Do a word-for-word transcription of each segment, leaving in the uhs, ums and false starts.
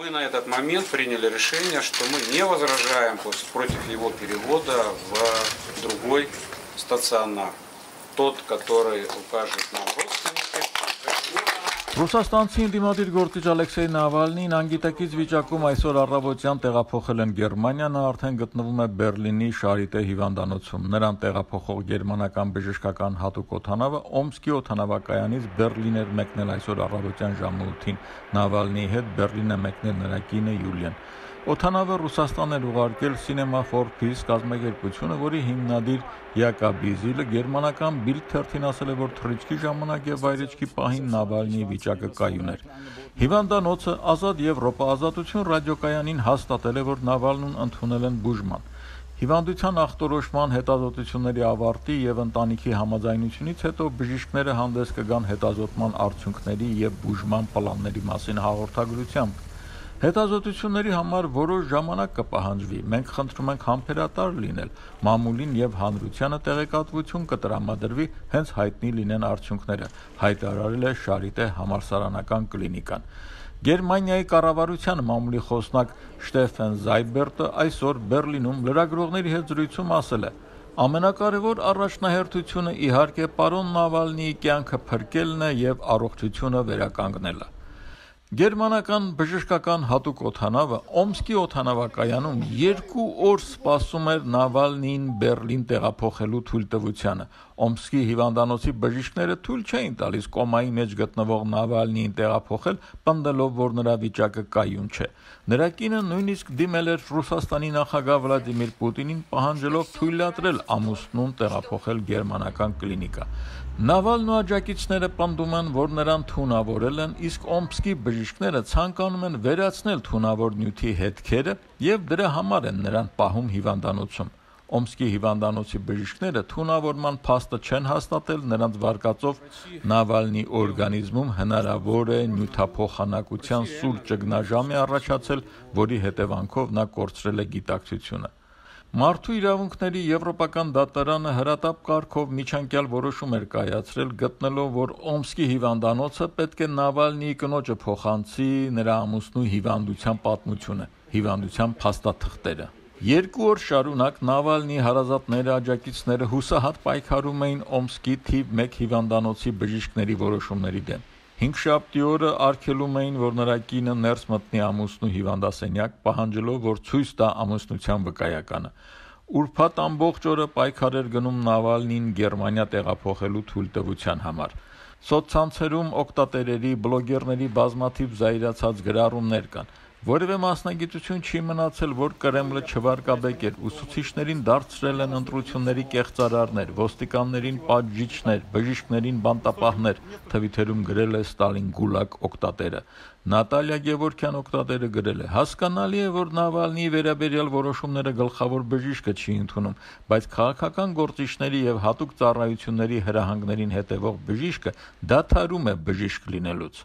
мы на этот момент приняли решение, что мы не возражаем против его перевода в другой стационар. Тот, который укажет нам родственники. Ռուսաստանցի ընդդիմադիր գործիչ Ալեքսեյ Նավալնին անգիտակից վիճակում այսօր առավոտյան տեղափոխել են Գերմանիա, նա արդեն գտնվում է Բերլինի Շարիտե հիվանդանոցում։ Նրան տեղափոխող գերմանական բժշկական հատուկ օդանավը Օմսկի օդանավակայանից Բերլին էր մեկնել այսօր առավոտյան ժամը ութին։ Նավալնիի հետ Բերլին է մեկնել նրա կինը Յուլիան։ Օդանավը Ռուսաստան էր ուղարկել Cinema for Peace կազմակերպությունը, որի հիմնադիր Յակոբ Իզիլը գերմանական Bild թերթին ասել է, որ թռիչքի ժամանակ եւ վայրեջքի պահին Նավալնիի վիճակը կայուն էր։ Հիվանդանոցը Ազատ Եվրոպա ազատություն ռադիոկայանին հաստատել է, որ Նավալնուն ընդունել են բուժման։ Հիվանդության ախտորոշման հետազոտությունների ավարտի եւ ընտանիքի համաձայնությունից հետո բժիշկները հանդես կգան հետազոտման արդյունքների եւ բուժման պլանների մասին հաղորդագրությամբ։ Հետազոտությունների համար որոշ ժամանակ կպահանջվի, մենք խնդրում ենք համբերատար լինել, մամուլին եւ հանրությանը տեղեկատվություն կտրամադրվի, հենց հայտնի լինեն արդյունքները, հայտարարել է Շարիտե համալսարանական կլինիկան։ Գերմանիայի կառավարության մամուլի խոսնակ Շտեֆեն Զայբերտը այսօր Բերլինում լրագրողների հետ զրույցում ասել է. Ամենակարևոր առաջնահերթությունը իհարկե պարոն Նավալնիի կյանքը փրկելն է եւ առողջությունը վերականգնելը։ Գերմանական բժշկական հատուկ օդանավը Օմսկի օդանավակայանում երկու օր սպասում էր Նավալնիին Բերլին տեղափոխելու թույլտվությանը։ Օմսկի հիվանդանոցի բժիշկները թույլ չէին տալիս կոմայի մեջ գտնվող Նավալնիին տեղափոխել, պնդելով, որ նրա վիճակը կայուն չէ։ Նրա կինը նույնիսկ դիմել էր Ռուսաստանի նախագահ Վլադիմիր Պուտինին, պահանջելով թույլատրել ամուսնուն տեղափոխել գերմանական կլինիկա։ Նավալնու աջակիցները պնդում են, որ նրան թունավորել են, իսկ Օմսկի բժիշկները ցանկանում են վերացնել թունավոր նյութի հետքերը եւ դրա համար են նրան պահում հիվանդանոցում։ Օմսկի հիվանդանոցի բժիշկները թունավորման փաստը չեն հաստատել, նրանց վարկածով Նավալնի օրգանիզմում հնարավոր է նյութափոխանակության սուր ճգնաժամ է առաջացել, որի հետևանքով նա կորցրել է գիտակցությունը։ Մարդու իրավունքների եվրոպական դատարանը հրատապ կարգով միջանկյալ որոշում էր կայացրել, գտնելով, որ Օմսկի հիվանդանոցը պետք է Նավալնիի կնոջը փոխանցի նրա ամուսնու հիվանդության պատմությունը, հիվանդության փաստաթղթերը։ Երկու օր շարունակ Նավալնիի հարազատները, աջակիցները հուսահատ պայքարում էին Օմսկի թիվ մեկ հիվանդանոցի բժիշկների որոշումների դեմ։ Հինգշաբթի օրը արգելում էին, որ նրա կինը ներս մտնի ամուսնու հիվանդասենյակ, պահանջելով, որ ցույց տա ամուսնության վկայականը։ Ուրբաթ ամբողջ օրը պայքար էր գնում Նավալնին Գերմանիա տեղափոխելու թույլտվության համար։ Սոցցանցերում օգտատերերի, բլոգերների բազմաթիվ զայրացած գրառումներ կան։ Որևէ մասնագիտություն չի մնացել, որ Կրեմլը չվարկաբեկեր, ուսուցիչներին դարձրել են ընտրությունների կեղծարարներ, ոստիկաններին պատժիչներ, բժիշկներին բանտապահներ, թվիթերում գրել է Ստալին Գուլագ օգտատերը։ Նատալիա Գևորգյան օգտատերը գրել է. հասկանալի է, որ Նավալնիի վերաբերյալ որոշումները գլխավոր բժիշկը չի ընդունում, բայց քաղաքական գործիչների եւ հատուկ ծառայությունների հրահանգներին հետևող բժիշկը դադարում է բժիշկ լինելուց։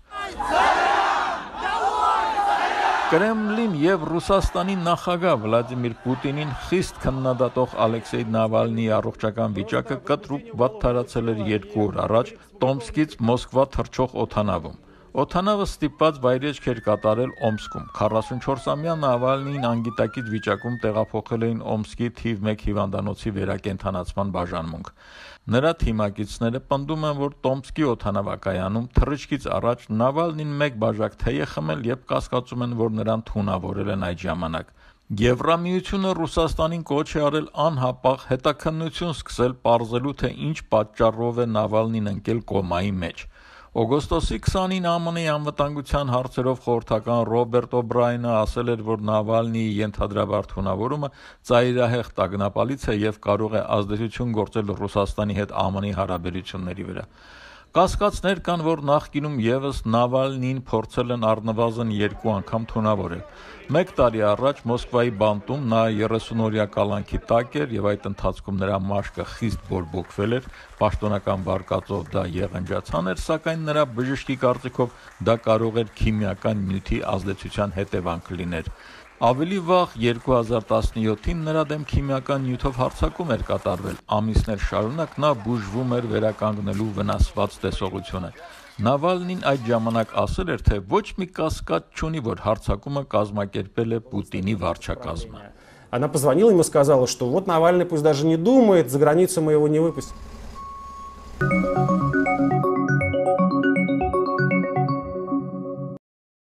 Կրեմլին եւ Ռուսաստանի նախագահ Վլադիմիր Պուտինին խիստ քննադատող Ալեքսեյ Նավալնիի առողջական վիճակը կտրուկ վատթարացել էր երկու օր առաջ Տոմսկից Մոսկվա թռչող օդանավում։ Օդանավը ստիպված վայրեջք էր կատարել Օմսկում։ քառասունչորսամյա Նավալնիին անգիտակից վիճակում տեղափոխել էին Օմսկի թիվ մեկ հիվանդանոցի վերակենդանացման բաժանմունք։ Նրա թիմակիցները պնդում են, որ Տոմսկի օդանավակայանում թռիչքից առաջ Նավալնին մեկ բաժակ թեյ է խմել եւ կասկածում են, որ նրան թունավորել են այդ ժամանակ։ Եվրամիությունը Ռուսաստանին կոչ է արել անհապաղ հետաքննություն սկսել պարզելու, թե ինչ պատճառով է Նավալնին ընկել կոմայի մեջ։ Օգոստոսի քսանին ԱՄՆ-ի անվտանգության հարցերով խորհրդական Ռոբերտ Օբրայնը ասել էր, որ Նավալնիի ենթադրաբար թունավորումը ծայրահեղ տագնապալից է եւ կարող է ազդեցություն գործել Ռուսաստանի հետ ԱՄՆ-ի հարաբերությունների վրա։ Կասկածներ կան, որ նախկինում եւս Նավալնին փորձել են առնվազն երկու անգամ թունավորել։ Մեկ տարի առաջ Մոսկվայի բանտում նա երեսունօրյա կալանքի տակ էր եւ այդ ընթացքում նրա մաշկը խիստ բորբոքվել էր, պաշտոնական վարկածով դա եղնջացան էր, սակայն նրա բժշկի կարծիքով դա կարող էր քիմիական նյութի ազդեցության հետևանք լինել։ Ավելի վաղ երկու հազար տասնյոթին նրա դեմ քիմիական նյութով հարձակում էր կատարվել։ Ամիսներ շարունակ նա բուժվում էր վերականգնելու վնասված տեսողությունը։ Նավալնին այդ ժամանակ ասել էր, թե ոչ մի կասկած չունի, որ հարձակումը կազմակերպել է Պուտինի վարչակազմը։ Она позвонила ему и сказала, что вот Навальный пусть даже не думает, за границу мы его не выпустим.